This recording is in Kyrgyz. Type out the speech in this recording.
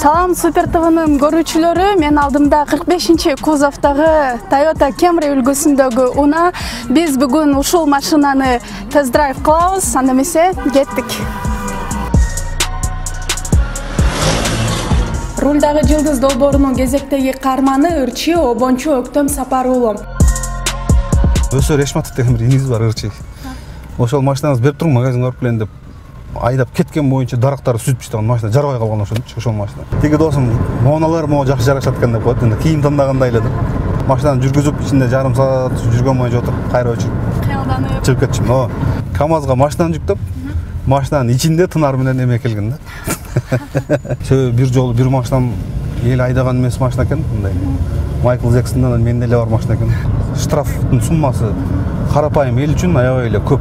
Салам Супер ТВнын көрүүчүлөрү, мен алдымда 45-кузовдогу Toyota Camry үлгүсүндөгү унаа. Биз бүгүн ушул машинаны тест-драйв кылабыз, анда эмесе кеттик. Рулдагы жылдыз долбоорунун кезектеги каарманы ырчы обончу Өктөм Сапаруулу. Өсөр Решматов деген бир иниңиз бар, ырчы. Ошол машинаңызды берип туруң, магазинге барып келем деп айдап кеткен боюнча дарактарды сүзүп таштаган машина жарабай калган ошол машина. Тиги досум моуналар мага жакшы жарашат экен деп коет. Эми кийим тандагандай эле да. Машинаны жүргүзүп ичинде жарым саат жүргөн боюнча отуруп, кайра өчүрүп, Кыялданып чыгып кетчүмүн. КамАЗга машинаны жүктөп, машинанын ичинде тынар менен эме келген да. Себеби бир жолу бир машинам эл айдаган эмес машина экен, мындай. Майкл Джексондон менде эле бар машина экен. Штрафтын суммасы карапайым эл үчүн аябай эле көп.